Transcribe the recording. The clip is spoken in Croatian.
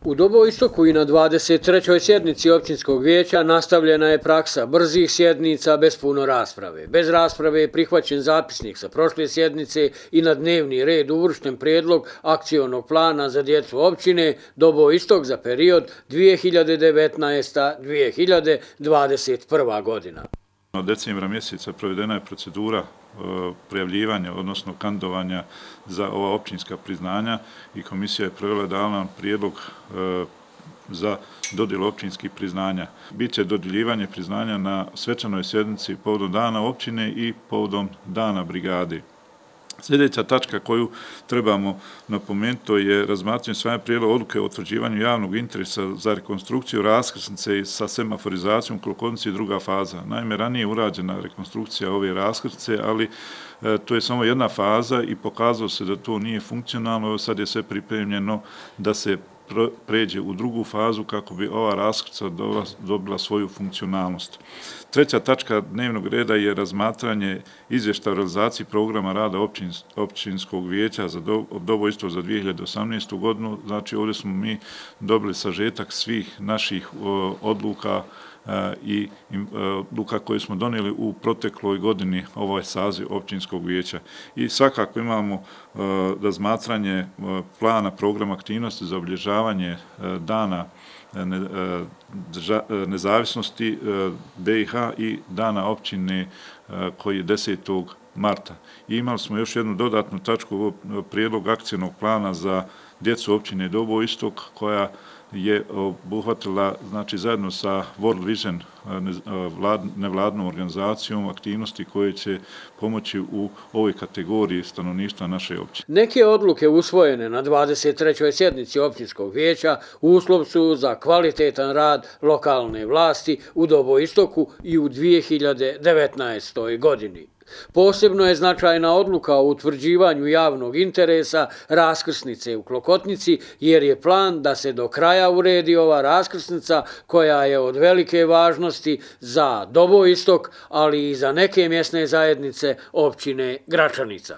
U Doboistoku i na 23. sjednici općinskog vijeća nastavljena je praksa brzih sjednica bez puno rasprave. Bez rasprave je prihvaćen zapisnik sa prošle sjednice i na dnevni red uvršten prijedlog akcionog plana za djecu općine Doboistok za period 2019-2021. godina. Od decembra mjeseca provedena je procedura prijavljivanja, odnosno kandidovanja za ova općinska priznanja i komisija je dala nam prijedlog za dodjelu općinskih priznanja. Biće dodjeljivanje priznanja na svečanoj sjednici povodom dana općine i povodom dana brigade. Sljedeća tačka koju trebamo napomenuti je razmatranje usvajanja prijedloga odluke o utvrđivanju javnog interesa za rekonstrukciju raskrsnice sa semaforizacijom u Klokotnici druga faza. Naime, ranije je urađena rekonstrukcija ove raskrsnice, ali to je samo jedna faza i pokazalo se da to nije funkcionalno. Sad je sve pripremljeno da se pređe u drugu fazu kako bi ova raskrsnica dobila svoju funkcionalnost. Treća tačka dnevnog reda je razmatranje izvještaja o realizaciji programa rada općinskog vijeća za Doboistok za 2018. godinu. Znači, ovdje smo mi dobili sažetak svih naših odluka i odluka koje smo donijeli u protekloj godini ovaj saziv općinskog vijeća. I svakako imamo razmatranje plana programa aktivnosti za obilježavanje dana nezavisnosti BiH i dana općine koji je 10. marta. I imali smo još jednu dodatnu tačku, prijedlog akcijnog plana za djecu općine Doboistok koja je obuhvatila, znači, zajedno sa World Vision nevladnom organizacijom aktivnosti koje će pomoći u ovoj kategoriji stanovništva naše općine. Neke odluke usvojene na 23. sjednici općinskog vijeća uslov su za kvalitetan rad lokalne vlasti u Doboistoku i u 2019. godini. Posebno je značajna odluka o utvrđivanju javnog interesa raskrsnice u Klokotnici, jer je plan da se do kraja uredi ova raskrsnica koja je od velike važnosti za Doboistok, ali i za neke mjesne zajednice općine Gračanica.